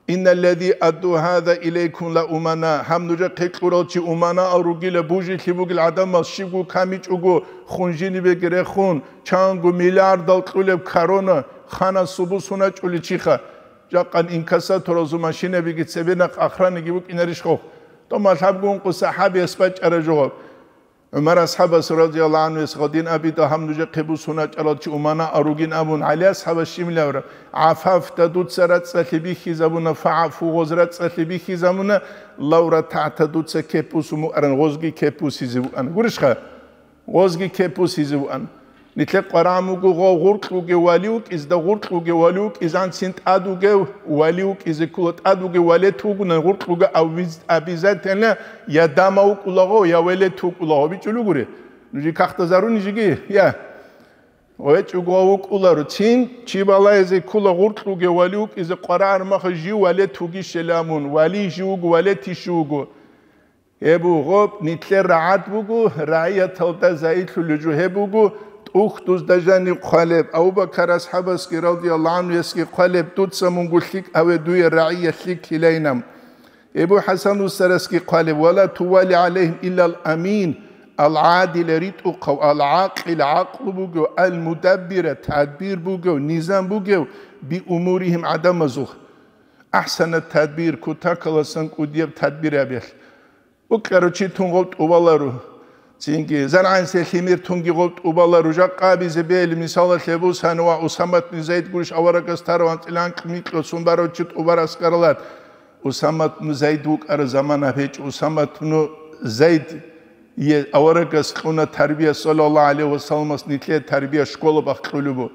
«Инналлази адду гьаза илайкум ла умана». Гьаб нужехъе кьурал чи уманаал ругила, бужилъи бугел гӀадамал щибго камичӀого хун жинибеги рехун, чанго миллиардал кьулеб корона ханасул бусун гьачӀулел чиха. Жакъан инкассаторазул машинабиги цебе нахъ охраниги букӀинарищ хохъ? Томал гьабгун къу сахӀабияс бачӀара жо гьаб. ГӀумар асхӀабас радияллагьу гӀанхуяс гъадин абида гьаб нужехъе бусун гьачӀарал чи умана аругин абун, ГӀали асхӀабас щиб лавра: «ГӀафафта дуца рацӀцӀалъи бихьизабуна, фагӀафу гъоз рацӀцӀалъи бихьизабуна, лавра тагьта дуца кеп бусун букӀаран гъозги кеп бусизе букӀана». Гурищха? Гъозги кеп бусизе вуан. Нилъер къварагӀмуго гъов гъуркьуге вали вукӀизда гъуркьуге вали вукӀизанцин тӀад вугев вали вукӀизе ккола, тӀад вугев валет вугунан гъуркьуге обязательно я дама вукӀулаго, я велет вукӀулаго бичӀулугури. Нужи кахтазаруни жиги, я. ВечӀуго вукӀуларо. Цин чи балаизе ккола гъуркьуге вали вукӀизе къварагӀармаха жив валет вугищеламун, вали жив вуго, валет иш вуго. Гьеб буго нилъер рагӀад буго, рагӀияталда заидлъулеб жо гьеб буго, тӀухьдузда жаниб хъвалеб, Абу-Бакар асхӀабасги радияллагьу гӀанхуясги хъвалеб, дуца мунго лъикӀ гьаве дуе рагӀият лъикӀлъилайна. Абу ХӀасан Усарасги хъвалеб: «Ва ла тували гӀалайгьим иллал амин», ал-гӀадила ритӀухъав, ал-гӀакъила гӀакълу бугев, ал-мудаббира тадбир бугев, низам бугев, би умуригьим гӀадамазул. Ахсана тадбир, кутакаласан кӀудияб тадбир гьабиялъ. Букьарав чи тун гъов тӀубалару. Цинги, заргӀансе лъимер тунги гъов тӀубалару. Жакъа абизе бегьли, мисалалъе бусани ва Усамат бин Зайд гурищ аварагас тарав анцӀила анкь микьго сун барав чи тӀубар аскаралат. Усамат бин Зайд вукӀара замана гьечӀо. Усамат бин Зайд е аварагас кьуна тарбия, саллаллагьу гӀалайгьи ва салламас нилъее тарбия школа бахъулеб бу.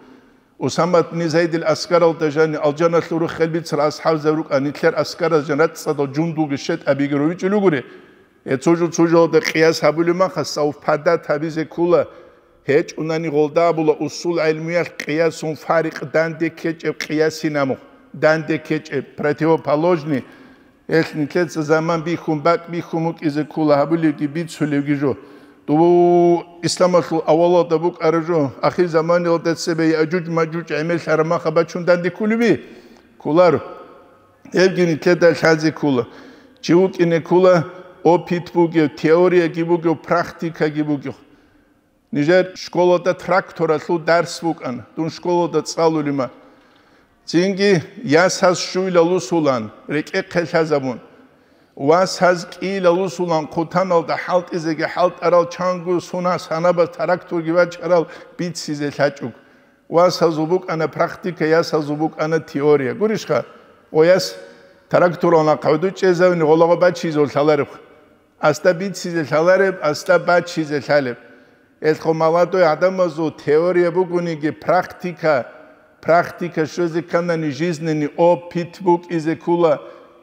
Усамат бин Зайдил аскаралда жани алжаналъул руххел бицарал асхӀабзаб рукӀа, нилъер аскараз жан рацӀцӀадал жундулги щетӀабиги ровичӀулугури. Гье цужу цужалда къияс гьабулеб маха, савпадат гьабизе ккула, гьечӀунани гъолда абула усул гӀелмуялъ къиясун фарикъ данде ккечӀеб къиясин амухъ, данде ккечӀеб, противоположный. Гьелъ нилъеца заман бихьун, бакӀ бихьун букӀизе ккула гьабулевги бицулевги жо. Дов исламалъул авалалда букӀараб жо, ахирзаманиялда цебе Яъжуж-Маъжуж гӀемерлъараб маха бачун данде ккулеби? Кколаро. Гьебги нилъеда лъазе ккула. Чи вукӀине ккула, опыт бугев, теорияги бугев, практикаги бугев. Нижер школалда тракторалъул дарс букӀана, дун школалда цӀалулима. Цинги ясаз щуйла лусулан, рекӀехъе лъазабун. Васаз кӀийла лусулан, хъутаналда хӀалтӀизеги хӀалтӀарал чанго сунас гьанабаз тракторги бачарал бицизе лъачӀуг. Васазул букӀана практика, ясазул букӀана теория. Гурищха? Гъояс тракторал нахъ гӀодов чӀезавни гъолагъо бачизе лъалареб. Асда бицизе лъалареб, асда бачизе лъалеб. Элъго молодой гӀадамазул теория бугониги, практика, практика щвезе кканани, жизненный опыт букӀизе ккола.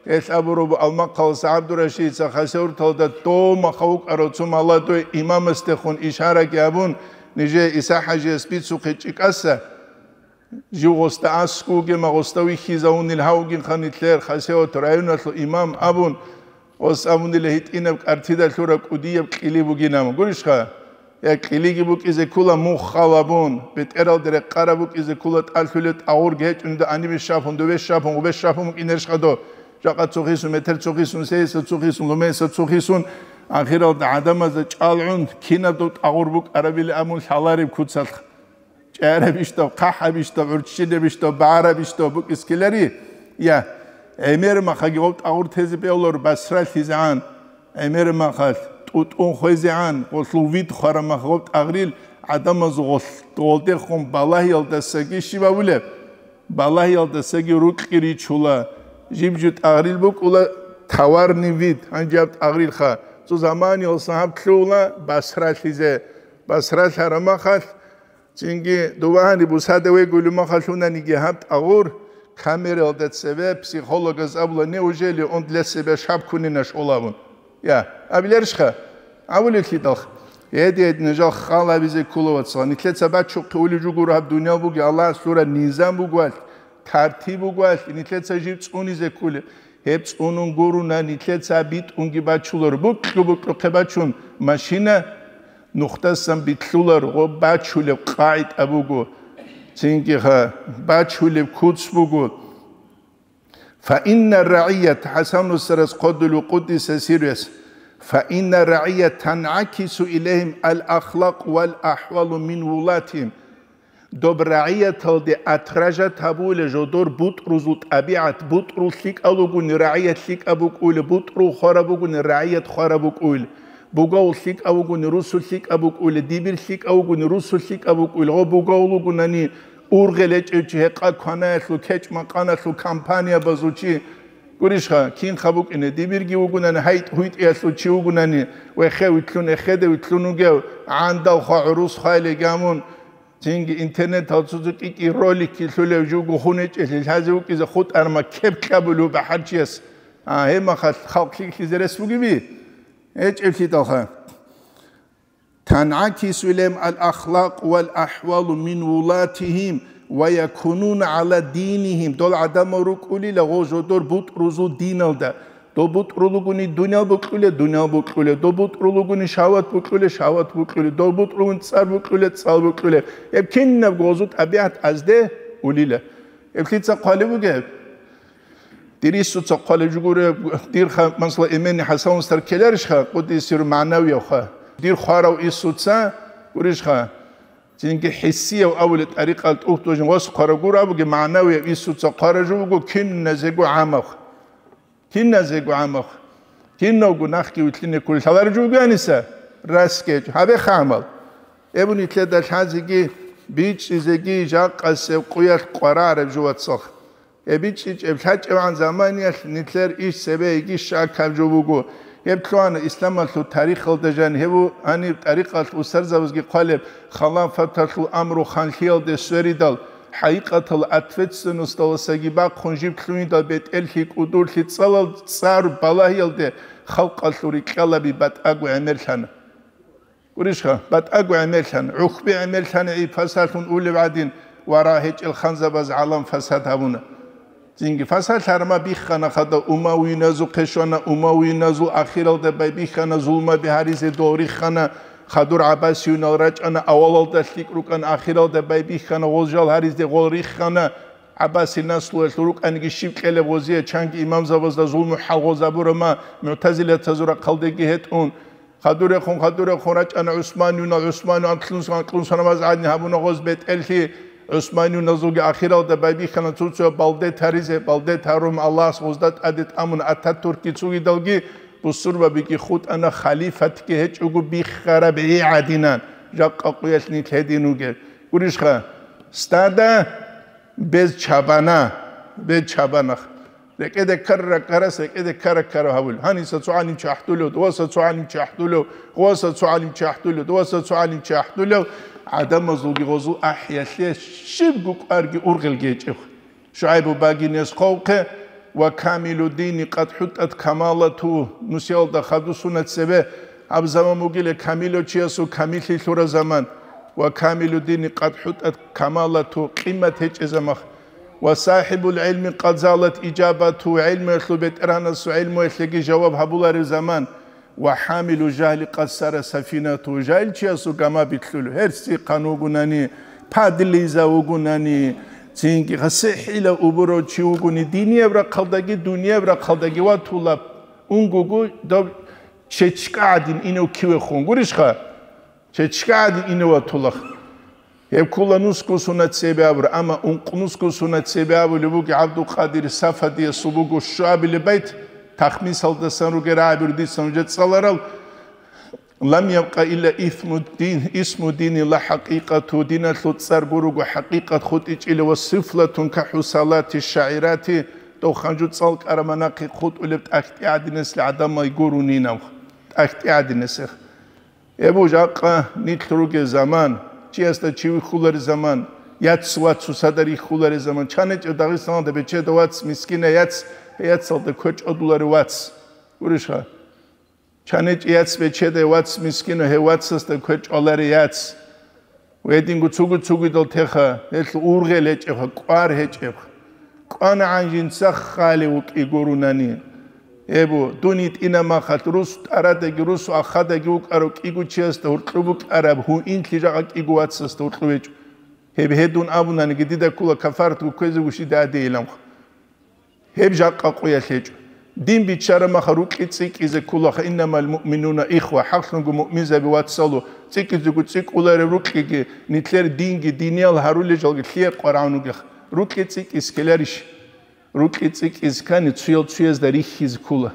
Гьелъ абураб Алмахъаласа ГӀабдурашидица Хасавюрталда дома хавукӀарав цо молодой имамасдехун ишараги абун, нижее ИсахӀажияс бицухъе чӀикӀаса, жив гъосда аскӀовгема, гъосда вихьизавунил гьавгинха нилъер Хасавюрт районалъул имам абун, гъос абунила гьитӀинаб кӀартида лъураб кӀудияб кьили бугинаб. Гурищха? Я кьилиги букӀизе ккола муххал абун, бетӀералде рекъараб букӀизе ккола тӀалъулеб тӀагъурги гьечӀони, дов гьанибе щапун, дове щапун, гъубе щапун букӀинарищха дов? Жакъа цохисун, метр цохисун, сейиса цохисун, лумейса цохисун, ахиралда гӀадамазда чӀалгӀун, кинаб дов тӀагъур букӀарабили абун лъалареб куцалъ. ЧӀарабищ дов, хъахӀабищ дов, гӀурччинабищ дов, багӀарабищ дов букӀискелари? Я, гӀемер махаги гъов тӀагъур тезе бегьулар басралъизегӀан. ГӀемер махалъ тӀутӀун хвезегӀан, гъолъул вид хвараб мах гъоб тӀагърил гӀадамаз гъолъ-, гъолдехун балагьиялдасаги щиб абулеб? Балагьиялдасаги рукьи ричула. Жиб-жу тӀагърил букӀула товарный вид, гьанжеб тӀагърилха. Цо заманиялсан гьаб лъугьула басралъизе. Басралъараб махалъ, цинги дувагьани бусада вегулев махалъунаниги гьаб тӀагъур, камералда цеве психологаз абула: «Неужели он для себя шаб кунина школабун?» Я, абиларищха? Абулеблъидалха. Гьедин, гьедин, жал хал гьабизе ккола, вацал. Нилъеца бачухъе улев жугур гьаб дуниял буги, Аллагьас лъураб низам бугоалъ, тартиб бугоалъ, нилъеца жив цӀунизе кколеб. Гьеб цӀунун гуруна, нилъеца битӀунги бачулар. Букьу-букьухъе бачун машина нухдасан битлъулар, гъоб бачулеб къагӀида буго. Цинги ха, бачулеб куц буго. فإن الرعية, ХӀасан устарас хъодулев къуддиса сирруяс, فإن الرعية تنعكس إليهم الأخلاق والأحوال من ولاتهم. Доб рагӀияталде отражать гьабула жодор бутӀрузул тӀабигӀат, бутӀрул лъикӀав вугони рагӀият лъикӀаб букӀула, бутӀрул хвараб бугони рагӀият хвараб букӀула, бугавул лъикӀав вугони русул лъикӀаб букӀула, дибир лъикӀав вугони русул лъикӀаб букӀула, гъо бугавул вугунани ургъел гьечӀев чи, гьекъа кванаялъул, кечӀ-макъаналъул компаниябазул чи. Гурищха, кинха букӀине, дибирги вугунани, гьайтӀ-гьуйтӀиялъул чи вугунани, вехе витлъун, эхеде витлъун вугев, гӀандал хва, гӀурус хвайилеги гьамун, цинги интернетал цо-цо кӀи-кӀи роликги лъулев жуго хун гьечӀелъи лъазе вукӀизе хутӀарма кеп кьабулев бахӀарчияс, а, гьеб махалъ халкъ лъикӀлъизе рес бугеби? ГьечӀеблъидалха. تنعكس إليهم الأخلاق والأحوال من ولاتهم ويكونون على دينهم. Дол гӀадамал рукӀулила гъо жодор бутӀрузул диналда. Доб бутӀрул вугони дуниял букьулеб, дуниял букьулеб. Доб бутӀрул вугони шагьват букьулеб, шагьват букьулеб. Доб бутӀрул вугони цӀар букьулеб, цӀар букьулеб. Гьеб кинабго гъозул тӀабигӀат азде улила. Гьеб лъица хъвалеб бугеб? Дир Инсуца хъвалеб жугуреб, дир ха-, масала, имени ХӀасан устар ккеларищха, къуддиса сирругьу, магӀнавиявха? Дир хварав Инсуца гурищха? Цинги хӀиссияв абулеб тӀарикъал тӀухьдужин гъос хъварав гуро абуги, магӀнавияв Инсуца хъварав жо вуго киназего гӀамав. Киназего гӀамав. Кинавго нахги вилълъине кколел лъалареб жо вугоаниса, расги гьечӀо. Гьабеха гӀамал. Эб нилъеда лъазеги, бичӀчӀизеги жакъасеб къуялъ къварареб жо, вацал. ГьебичӀчӀичӀеб лъачӀевгӀан заманиялъ нилъер иш цебе йигищ акаб жо буго. Гьеб лъугьана исламалъул тарихалда жан, гьеб гьаниб тӀарикъалъ устарзабазги хъвалеб, халафаталъул амру ханлъиялде сверидал, хӀакъикъатал ответственносталасаги бахъун жиб лъугьиндал бетӀерлъи, кӀудурлъи, цӀалал цӀар балагьиялде халкъалъул рикьалаби батӀаго гӀемерлъана. Гурищха, батӀаго гӀемерлъана, гӀухьби гӀемерлъана гӀи пасалъун улев гӀадин, вара гьечӀел ханзабаз гӀалам фасад гьабуна. Цинги фасад лъарма биххана хада, умавиюназухъе щвана, умавиюназул ахиралда байбихьана зулмаби гьаризе дол риххана, хадур гӀаббасиюнал рачӀана, авалалда лъикӀ рукӀана, ахиралда байбихьана гъол жал гьаризе гъол риххана, гӀаббаси наслуялъул рукӀаниги щиб кьелеб гъозие чанги имамзабазда зулму хӀал гъозабурама, мугӀтазилатазул рахъалдеги гьетӀун. Хадурехун, хадурехун рачӀана ГӀусманиюнал, ГӀусманиюн анкьлъун сан-, анкьлъун санамаз гӀадин гьабуна гъоз бетӀерлъи, ГӀусманиюназулги ахиралда байбихьана цо-цо балде таризе, балде тарун Аллагьас гъозда тӀаде тӀамун Ататуркги цугидалги, бусурбабиги хутӀана халифатги гьечӀого биххараб гӀи гӀадинан, жакъа къуялъ нилъ гьедин вугеб. Гурищха, Стадо без чабана, без чабанах. РекӀеде ккара-ккарас рекӀеде ккара-ккара гьавулев. Гьаниса цо гӀалимчи ахӀдулев, дуваса цо гӀалимчи ахӀдулев, гъуваса цо гӀалимчи ахӀдулев, дуваса цо гӀалимчи ахӀдулев, гӀадамазулги гъозул ахӀиялъе щибго кӀварги ургъелги гьечӀеб. ШугӀайбу багинес хъвавухъе: «Ва камилу дини къад хӀутӀат камалату», нусиялда хадусуна цебе, гьаб заман бугила камилав чиясул камиллъи лъура заман. «Ва камилу дини къад хӀутӀат камалату», къимат гьечӀезамах. «Ва сахибул гӀилми къад залат ижабату», гӀилмуялъул бетӀергьанасул гӀилмуялъеги жаваб гьабуларев заман. «Ва хӀамилу жагьли къад сара сафинату», жагьилчиясул гама битлъулев, гьерсихъан вугунани, падлиза вугунани, цинги гьасихӀила убурав чи вугони, динияб рахъалдаги, дунияб рахъалдаги ватулаб унгуго, доб чечка гӀадин инев кивехун гурищха? Чечка гӀадин инев ватулах. Гьеб ккола нусго сунат цебе абура, амма ункъ нусго сунат цебе абулеб буго ГӀабдулкъадир Сафадиясул буго щуабилеб байт, тахмисалдасан ругел рагӀаби дица нужеда цӀаларал: «Лам ябкъа илла исму дин, исму дини ла хӀакъикъату», диналъул цӀар гуруго хӀакъикъат хутӀичӀила, «ва сифлатун ка хӀусалати шагӀирати», дов ханжу цӀалкӀара манахъи хутӀулеб тӀахьтӀи гӀадинасел гӀадамай гурунин аб, тӀахьтӀи гӀадинасех. Эбу жакъа нилъ ругел заман, чиясда чи вихьуларел заман, яц вацу садар йихьуларел заман, чанечӀев Дагъистаналда бечеда вац, мискина яц, яцалда квечӀ одуларев вац. Гурищха? ЧанечӀ яц бечеда вац, мискина гьев вацасда квечӀ аларев яц. Гьединго цугу-цугидал теха, гьелъул ургъел гьечӀебха, кӀвар гьечӀебха. КӀванагӀан жинца хали вукӀи гурунани. Эбу, дун йитӀина махалъ, рус тӀарадаги, рус ахадаги вукӀарав кӀиго чиясда гьуркьу букӀараб гьуинлъи жакъа кӀиго вацасда гьуркьу гьечӀо. Гьеб гьедун абунаниги, дида ккола кафаратго кквезе вущида гьадейиланха. Гьеб жакъа къуялъ гьечӀо. Дин биччараб маха рукьи цӀикӀкӀизе кколаха, «Иннамал муъминуна ихва», хӀакълъунго муъминзаби вацалу, цӀикӀкӀизего цӀикӀкӀулареб рукьиги, нилъер динги, диниял гьарулел жалги лъие къварагӀун вугех. Рукьи цӀикӀкӀиз ккеларищ? Рукьи цӀикӀкӀиз ккани, цуял цуязда рихьизе ккола.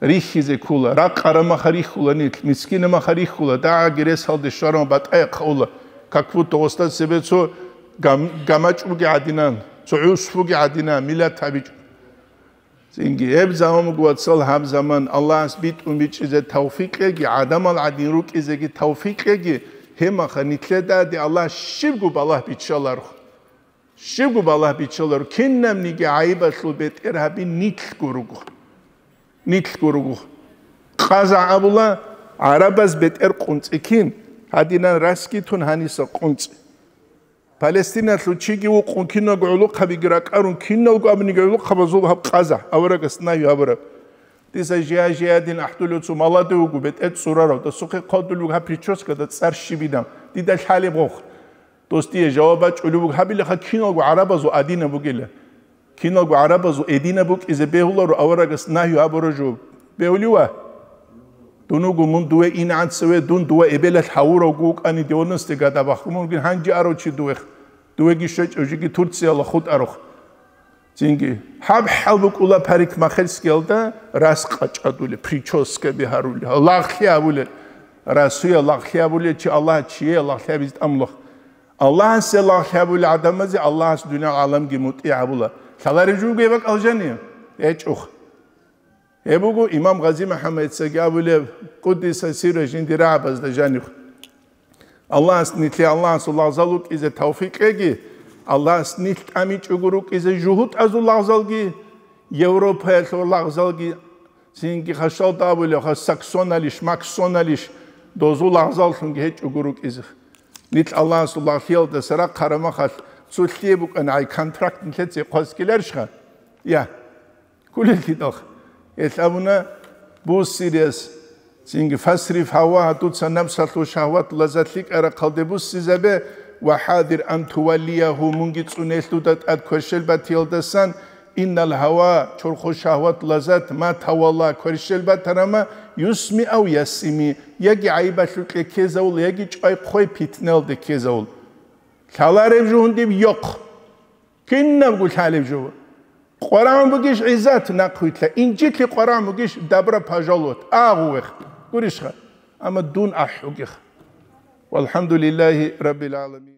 Рихьизе ккола. Ракъара маха рихьула нилъ, мискина маха рихьула, дагӀаги ресалде щваран батӀаяхъ ула, как будто гъосда цебе цо гам-, гамачӀ буги гӀадинан, цо гӀус буги гӀадинан, миллат гьабичӀо. Цинги гьеб заман буго, вацал, гьаб заман Аллагьас битӀун бичӀчӀизе тавфикъ кьеги, гӀадамал гӀадин рукӀизеги тавфикъ кьеги, гьебмаха нилъедаде Аллагь щибго балагь биччаларухъ. Щибго балагь биччаларо, кинабниги гӀайибалъул бетӀергьаби нилъго руго. Нилъго руго. Къаза абула, гӀарабаз бетӀер къунцӀи кин, гьадинан расги тун гьаниса къунцӀи. Палестиналъул чиги вукъун, киналго гӀулухъабиги ракӀарун, киналго абуниги гӀулухъабазул гьаб къаза, аварагас нагьи гьабураб. Дица жия-жиядин ахӀдулев цо малади вуго, бетӀер цӀурарав, дасухъе хъодулев вуго гьаб прическада цӀар щибилан, дида лъалеб гъохъ. Дос дие жаваб бачӀулев вуго, гьабилаха киналго гӀарабазул адина бугила. Киналго гӀарабазул эдина букӀизе бегьуларо, аварагас нагьи гьабура жо. Бегьулев ва? Дун вуго мун дуе инегӀан цеве, дун дова эбелалъ гьавуравго вукӀани девяностые года бахъун вугин, гьанже арав чи дуе, дуеги щвечӀев жиги Турциялда хутӀарухъ. Цинги гьаб хӀал букӀула парикмахерскиялда, рас къачӀадулел, прическаби гьарулел, лагълъи гьабулел, расуя лагълъи гьабулел чи Аллагь чие лагълъи гьабизе тӀамулахъ. Аллагьасе лагълъи гьабулел гӀадамазе Аллагьас дуниял гӀаламги мутӀигӀ гьабула. Лъалареб жо бугеб бакӀал жани? ГьечӀухъ. Гьеб буго имам Гъази МухӀаммадицаги абулеб, къуддиса сирра, жиндир рагӀабазда жанив. Аллагьас нилъее Аллагьасул лагъзал рукӀизе тавфикъ кьеги, Аллагьас нилъ тӀамичӀого рукӀизе жугьутӀазул лагъзалги, Европаялъул лагъзалги, цинги хашалда абулеб, ха саксоналищ, максоналищ, дозул лагъзаллъунги гьечӀого рукӀизе. Нилъ Аллагьасул лагълъиялдаса рахъараб махалъ, цо лъие букӀана гӀай контракт нилъеца хъвазккиларищха? Я. Кколеллъидалха. Гьелъ абуна буссирияс, цинги: «Фасриф гьавагьа», дуца напсалъул шагьват лаззат лъикӀа рахъалде буссизабе, «ва хӀадир ан туваллиягьу», мунги цӀунелъ дуда тӀад кверщел батиялдасан, «иннал гьава», чорхол шагьват лаззат, «ма тавалла», кверщел батарама, «юсми ав ясими», яги гӀайибалъукье ккезавул, яги чӀвай-хъвай питналде ккезавул. Лъалареб жугьун диб йохъ. Кинабго лъалеб жо. КъварагӀун бугищ гӀиззат, нахъвилъа, инжитлъи къварагӀун бугищ добро пожаловать, агъу вех, гурищха, амма дун ахӀугех. Валхамдулиллагьи раббил гӀаламин.